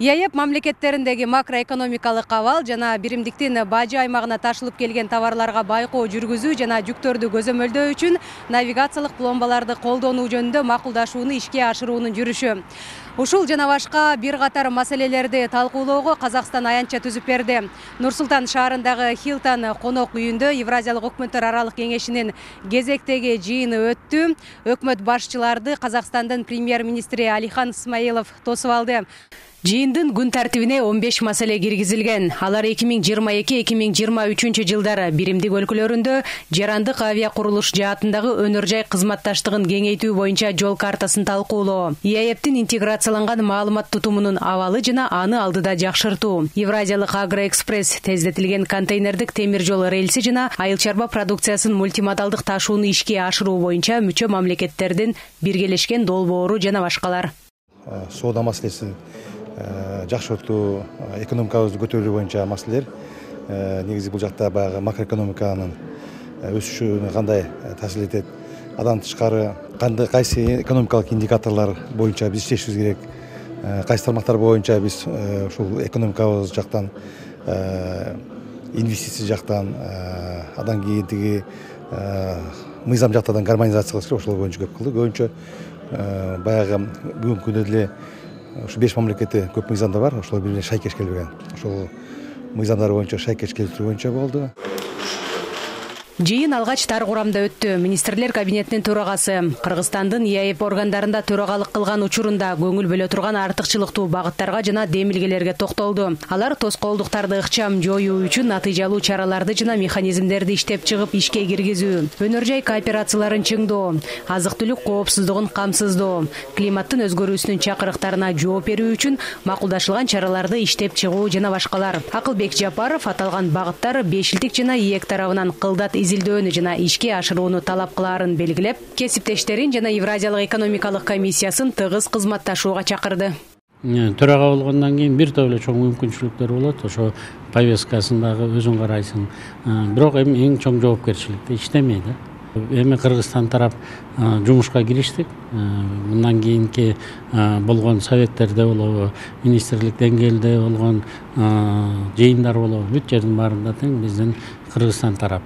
ЕАЭП мамлекеттериндеги макроэкономикалык абал жана биримдиктин бажы аймагына ташылып келген товарларга байкоо жүргүзүү жана жүктөрдү көзөмөлдөө үчүн навигациялык пломбаларды колдонуу жөнүндө макулдашууну ишке ашыруунун жүрүшү. Ушул жана башка бир катар маселелерди талкуулоого Казакстан аянтча түзүп берди. Нур-Султан шаарындагы Хилтон конок үйүндө Евразиялык өкмөттөр аралык кеңешинин кезектеги жыйыны өттү. Өкмөт башчыларды Казакстандын премьер-министри Алихан Смайылов тосуп алды. Жыйындын күн тартибине 15 маселе киргизилген. Алар 2022-2023 жылдары биримдик өлкөлөрүндө жарандык авиа курулуш жаатындагы өнөр жай кызматташтыгын кеңейтүү боюнча жол картасын талкуулоо, ЕАЭПтин интеграцияланган маалымат тутумунун абалы жана аны алдыда жакшыртуу, Евразиялык Агроэкспресс тездетилген контейнердик темир жол рельси жана айыл чарба продукциясын мультимодалдык ташууну ишке ашыруу боюнча мүчө мамлекеттердин биргелешкен долбоору жана башкалар. Соода маселесин жакшыртуу, экономикабызды көтөрүү боюнча маселелер. Негизи бул жакта баягы макроэкономиканын өсүшүнө кандай таасир этет, андан тышкары кайсы экономикалык индикаторлор боюнча биз иштешибиз керек, кайсы тармактар боюнча биз ушул экономикабыз жактан, инвестиция жактан, андан кийин тиги мыйзам жактан гармонизация кылыш керек, ошол боюнча көп кылды. Көбүнчө баягы бүгүнкү күндө деле ушу 5 мамлекетте көп мыйзамдар бар, ошол бири шайкеш келбеген. Ошол мыйзамдар боюнча шайкеш келтирүү боюнча болду. Жыйын алгач тар курамда өттү. Министрлер кабинетинин төрагасы Кыргызстандын ЕАЭП органдарында төрагалык кылган учурунда көңүл бөлө турган артыкчылыктуу багыттарга жана демилгелерге токтолду. Алар тоскоолдуктарды ыкчам жоюу үчүн натыйжалуу чараларды жана механизмдерди иштеп чыгып ишке киргизүү, өнөр жай кооперацияларын чыңдоо, азык-түлүк коопсуздугун камсыздоо, климаттын өзгөрүүсүнүн чакырыктарына жооп берүү үчүн макулдашылган чараларды иштеп чыгуу жана башкалар. Акылбек Жапаров аталган багыттар бешилтик жана ИЭК тарабынан кылдат изилдөөнү жана ишке ашырууну талап кылаарын белгилеп, кесиптештерин жана Евразиялык экономикалык комиссиясын тыгыз кызматташууга чакырды. Төрага болгондон кийин бир топ эле чоң мүмкүнчүлүктөр болот. Ошо повесткасын дагы өзүң карайсың. Бирок эми эң чоң жоопкерчиликте иштемей да. Эми Кыргызстан тарап жумушка кириштик. Мындан кийинки болгон советтерде болобу, министрлик деңгээлде болгон жыйындар болобу, бүт жердин баарында тең биздин Кыргызстан тарап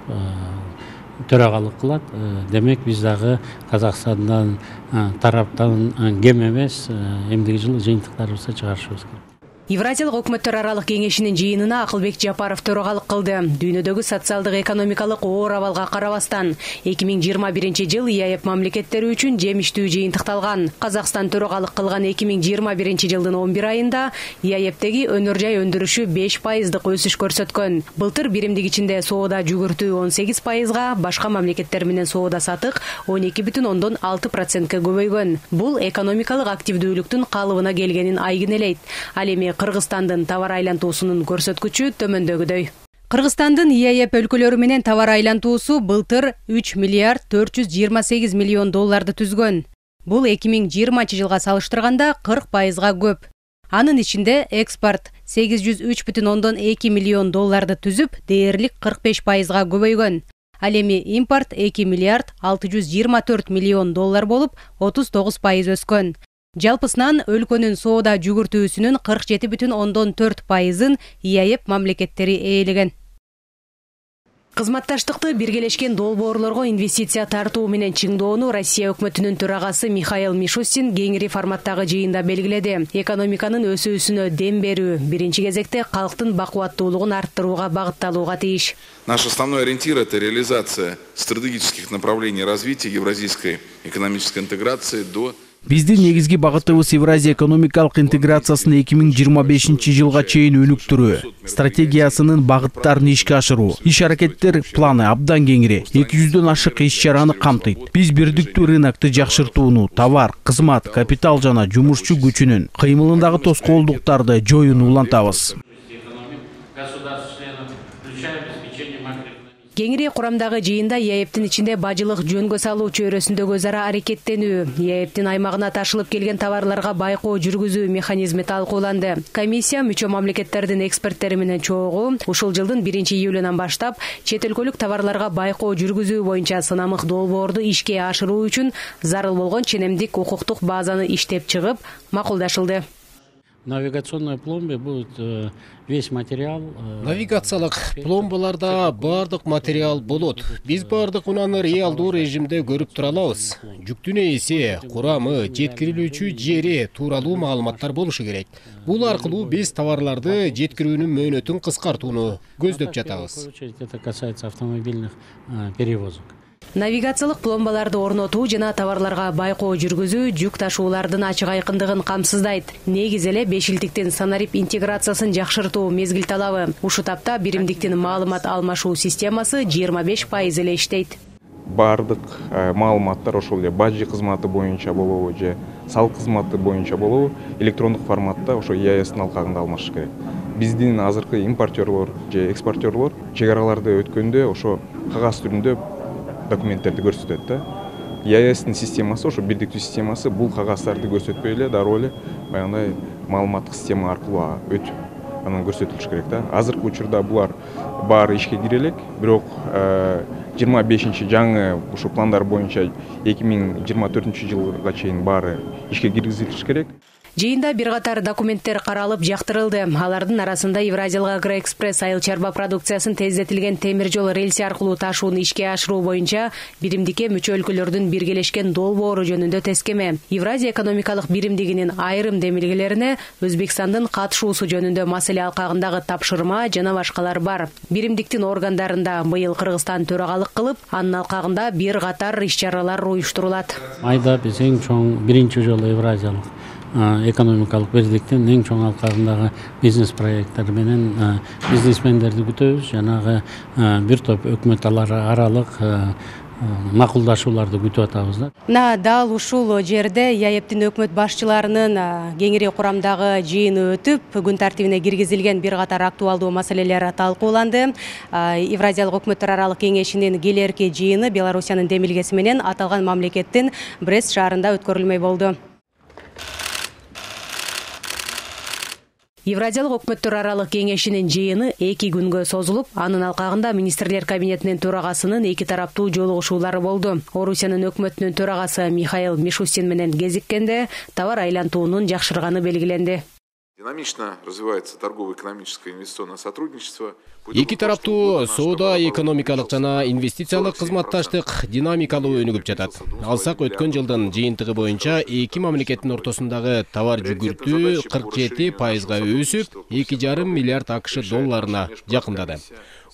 төрагалык кылат. Демек биз дагы Казакстандан тараптан кем эмес эмдиги жылы жыйынтыктарыбызды чыгарышыбыз керек. Евразиялык өкмөттөр аралык кеңешинин жыйынына Акылбек Жапаров төрагалык кылды. Дүйнөдөгү социалдык экономикалык оор абалга карабастан 2021 жыл ЕАЭП мамлекеттери үчүн жемиштүү жыйынтыкталган. Казакстан төрагалык кылган 2021 жылдын 11 айында ЕАЭПтеги өнөр жай өндүрүшү 5% өсүш көрсөткөн. Былтыр биримдик ичинде соода жүгүртүү 18%, башка мамлекеттер менен соода сатык 12,6%га көбөйгөн. Бул экономикалык активдүүлүктүн калыбына келгенин айгинелейт. Ал эми Кыргызстандын товар айлантуусунун көрсөткүчү төмөндөгүдөй. Кыргызстандын ЕАЭП өлкөлөрү менен товар айлантуусу былтыр 3 миллиард 428 миллион долларды түзгөн. Бул 2020 жылга салыштырганда 40%га көп. Анын ичинде экспорт 803,2 миллион долларды түзүп, дээрлик 45%га көбөйгөн. Ал эми импорт 2 миллиард 624 миллион доллар болуп, 39% өскөн. Жалпысынан өлкөнүн соода жүгүртүүсүнүн 47,4%-ын ЕАЭП мамлекеттери ээлеген. Кызматташтыкты биргелешкен долбоорлорго инвестиция тартуу менен чыңдоону Россия өкмөтүнүн төрагасы Михаил Мишустин кеңири форматтагы жыйында белгиледи. Экономиканын өсүүсүнө дем берүү биринчи кезекте калктын бакубаттуулугун арттырууга багытталууга тийиш. Наш основной ориентир – это реализация стратегических направлений развития евразийской экономической интеграции до Биздин негизги багытыбыз Евразия экономикалык интеграциясын 2025 жылга чейин өнүктүрүү. Стратегиясынын багыттарын ишке ашыруу. Иш-аракеттер планы абдан кеңири. 200дөн ашык иш-чараны камтыйт. Биз бирдиктүү рынокты жакшыртууну, товар, кызмат, капитал жана жумушчу күчүнүн кыймылындагы тоскоолдуктарды жоюуну улантабыз. Кеңири курамдагы жыйында ЕАЭПтин ичинде бажылык жөнгө салуу чөйрөсүндөгү өзара аракеттенүү, ЕАЭПтин аймагына ташылып келген товарларга байкоо жүргүзүү механизми талкууланды. Комиссия мүчө мамлекеттердин эксперттери менен чогуу ушул жылдын 1-июлунан баштап чет өлкөлүк товарларга байкоо жүргүзүү боюнча сынамык долбоорду ишке ашыруу үчүн зарыл болгон ченемдик укуктук базаны иштеп чыгып, макулдашылды. Навигационная пломба бул весь материал. Навигациялык пломбаларда бардык материал болот. Биз бардык унаны реалдуу режимде көрүп тура алабыз. Жүктүн эси, курамы, жеткирилүүчү жери тууралуу маалыматтар болушу керек. Бул аркылуу биз товарларды жеткирүүнүн мөөнөтүн кыскартууну көздөп жатабыз. Это касается автомобильных перевозок. Навигациялык пломбаларды орнотуу жана товарларга байкоо жүргүзүү жүк ташуулардын ачык айкындыгын камсыздайт. Негизи эле бешилтиктин санарип интеграциясын жакшыртуу мезгил талабы. Ушул тапта биримдиктин маалымат алмашуу системасы 25% эле иштейт. Бардык маалыматтар ошол эле бажы кызматы боюнча болобу же салык кызматы боюнча болобу электрондук форматта ошо EIS-тин алкагында алмашыш керек. Биздин азыркы импортерлор же экспортерлор чек араларды өткөндө ошо кагаз түрүндө документтерди көрсөтөт да. EIS-тин системасы, ошо бирдиктүү системасы бул кагаздарды көрсөтпөй эле дароо эле баягындай маалыматтык система аркылуу өтүп анан көрсөтүлүш керек да. Азыркы учурда булар баары ишке кире элек, бирок 25 жаңы ушу пландар боюнча 2024 жылга чейин баары ишке киргизилиш керек. Жыйында бир катар документтер каралып жактырылды. Алардын арасында Евразиялык Агроэкспресс айыл чарба продукциясын тездетилген темир жол рельси аркылуу ташууну ишке ашыруу боюнча биримдикке мүчө өлкөлөрдүн биргелешкен долбоору жөнүндө тескеме, Евразия экономикалык биримдигинин айрым демилгелерине Өзбекстандын катышуусу жөнүндө маселе алкагындагы тапшырма жана башкалар бар. Биримдиктин органдарында быйыл Кыргызстан төрагалык кылып, анын алкагында бир катар иш-чаралар уюштурулат. Айда биз эң чоң биринчи жолу Евразиялык экономикалык бирликтин эң чоң алкагындагы бизнес проекттер менен бизнесмендерди күтөбүз. Жанагы бир топ өкмөт аралык макулдашууларды күтүп атабыз да. Мына дал ушул жерде ЯЭПтин өкмөт башчыларынын кеңири курамдагы жыйыны өтүп, күн тартибине киргизилген бир катар актуалдуу маселелер талкууланды. Евразиялык өкмөттөр аралык кеңешинин келерки жыйыны Белоруссиянын демилгеси менен аталган мамлекеттин Брест шаарында өткөрүлмөй болду. Евразиялык өкмөттөр аралык кеңешинин жыйыны 2 күнгө созулуп, анын алкагында министрлер кабинетинин төрагасынын 2 тараптуу жолугушуулары болду. Орусиянын өкмөтүнүн төрагасы Михаил Мишустин менен кезиккенде товар айлантуунун жакшырганы белгиленди. Динамично развивается торгово-экономическое инвестиционное сотрудничество. Эки тараптуу соода, экономикалык жана инвестициялык кызматташтык динамикалуу өнүгүп жатат. Алсак өткөн жылдын жыйынтыгы боюнча эки мамлекеттин ортосундагы товар жүгүртүү 47%га өсүп, 2,5 миллиард АКШ долларына жакындады.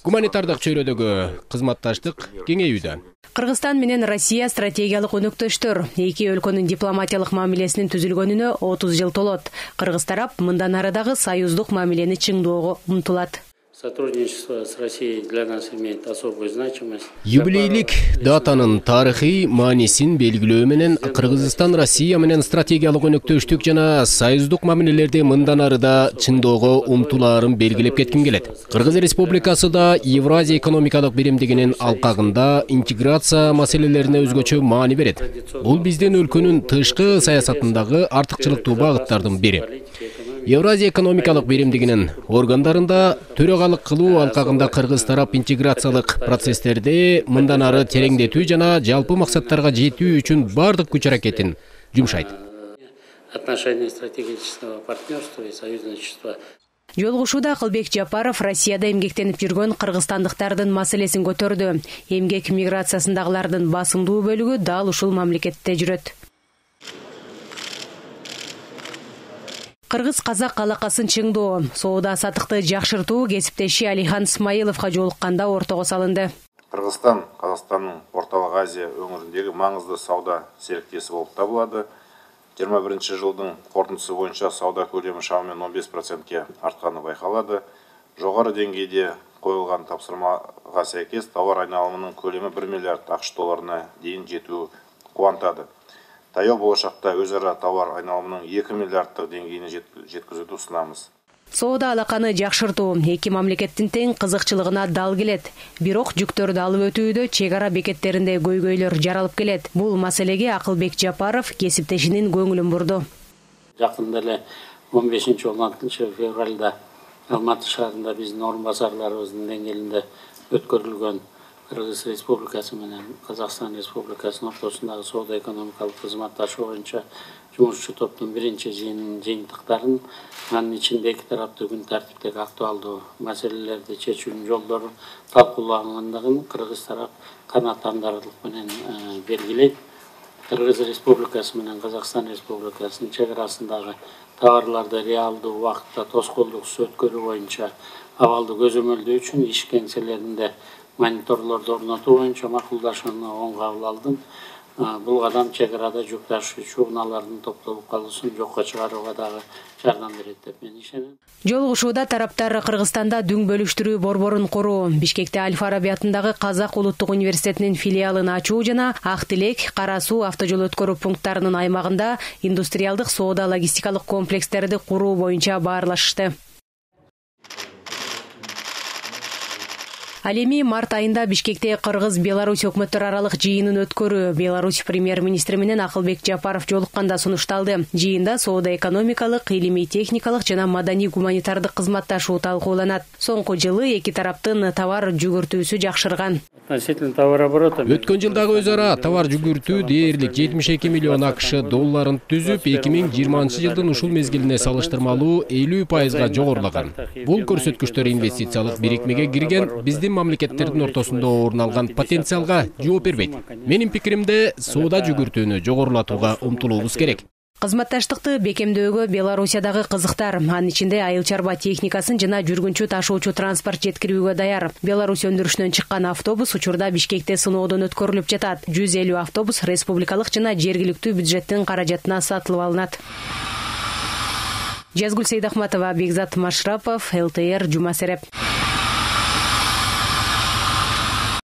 Гуманитардык чөйрөдөгү кызматташтык кеңейүүдө. Кыргызстан менен Россия стратегиялык өнөктөштөр. Эки өлкөнүн дипломатиялык мамилесинин түзүлгөнүнө 30 жыл толот. Кыргыз тарап мындан ары дагы союздук мамилени чыңдоого умтулат. Сотрудничество с Россией для нас имеет особую значимость. Юбилейлик датанын тарыхый маанисин белгилөө менен Кыргызстан Россия менен стратегиялык өнөктөштүк жана союздук мамилелерди мындан ары да чыңдоого умтулаарын белгилеп кетким келет. Кыргыз Республикасы да Евразия экономикалык биримдигинин алкагында интеграция маселелерине өзгөчө маани берет. Бул биздин өлкөнүн тышкы саясатындагы артыкчылыктуу багыттардын бири. Евразия экономикалык биримдигинин органдарында төрагалык кылуу алкагында Кыргыз тарап интеграциялык процесстерди мындан ары тереңдетүү жана жалпы максаттарга жетүү үчүн бардык күч аракетин жумшайт. Отношения стратегического партнерства и союзничества. Жолугушууда Акылбек Жапаров Россияда эмгектенип жүргөн кыргызстандыктардын маселесин көтөрдү. Эмгек миграциясындагылардын басымдуу бөлүгү дал ушул мамлекетте жүрөт. Кыргыз-казак алакасын чыңдоо, соода сатыкты жакшыртуу кесиптеши Алихан Исмаиловго жолукканда ортого салынды. Кыргызстан Казакстандын Ортолук Азия өңүрүндөгү маңызды сауда сериктеси болуп табылады. 21 жылдын корутундусу боюнча сауда көлөмү шамамен 15%ке артканы байкалады. Жогору деңгейде коюлган тапсырмага сайкес товар айналымынын көлөмү 1 миллиард АКШ долларына дейин жетүү кубантады. Таяу болашакта өз ара товар айналымынын 2 миллиарддык деңгейине жеткизүүнү сунамыз. Соода алаканы жакшыртуу эки мамлекеттин тең кызыкчылыгына дал келет. Бирок жүктөрдү алып өтүүдө чек ара бекеттеринде көйгөйлөр жаралып келет. Бул маселеге Акылбек Жапаров кесиптешинин көңүлүн бурду. Жакында эле 15-16 февралда Алматы шаарында биздин орун басарларыбыздын деңгээлинде өткөрүлгөн Кыргыз Республикасы менен Казакстан Республикасынын ортосундагы соода экономикалык кызматташуу боюнча жумушчу топтун биринчи жыйынынын жыйынтыктарын, анын ичинде эки тараптуу күн тартиптеги актуалдуу маселелерди чечүүнүн жолдору талкуулангандыгын кыргыз тарап канааттандырарлык менен белгилейт. Кыргыз Республикасы менен Казакстан Республикасынын чек арасындагы товарларды реалдуу убакытта тоскоолдуксуз өткөрүү боюнча абалды көзөмөлдөө үчүн иш кеңселеринде мониторлорду орнотуу боюнча макулдашууну оң кабыл алдым. Бул кадам чек арада жүк ташуучу унаалардын топтолуп калуусун жокко чыгарууга дагы жардам берет деп мен ишенем. Жолугушууда тараптар Кыргызстанда дүң бөлүштүрүү борборун куруу, Бишкекте Аль-Фараби атындагы Казак улуттук университетинин филиалын ачуу жана Ак Тилек, Кара Суу автожол өткөрүү пункттарынын аймагында индустриалдык соода логистикалык комплекстерди куруу боюнча баарлашышты. Ал эми март айында Бишкекте Кыргыз-Беларусь өкмөттөр аралык жыйынын өткөрүү Беларусь премьер-министри менен Акылбек Жапаров жолукканда сунушталды. Жыйында соода экономикалык, илимий техникалык жана маданий гуманитардык кызматташуу талкууланат. Соңку жылы эки тараптын товар жүгүртүүсү жакшырган. Өткөн жылдагы өз ара товар жүгүртүү дээрлик 72 миллион АКШ долларын түзүп, 2020 жылдын ушул мезгилине салыштырмалуу 50% жогорулаган. Бул көрсөткүчтөр инвестициялык бирикмеге кирген биздин мамлекеттердин ортосунда орун алган потенциалга жооп бербейт. Менин пикиримде, соода жүгүртүүнү жогорулатууга умтулуубуз керек. Кызматташтыкты бекемдөөгө Белоруссиядагы кызыктар, анын ичинде айыл чарба техникасын жана жүргүнчү ташуучу транспорт жеткирүүгө даяр. Беларусь өндүрүшүнөн чыккан автобус учурда Бишкекте сыноодон өткөрүлүп жатат. 150 автобус республикалык жана жергиликтүү бюджеттин каражатына сатылып алынат. Жазгүл Сейдахматова, Бекзат Машрапов, ЛТР, Жума Сереп.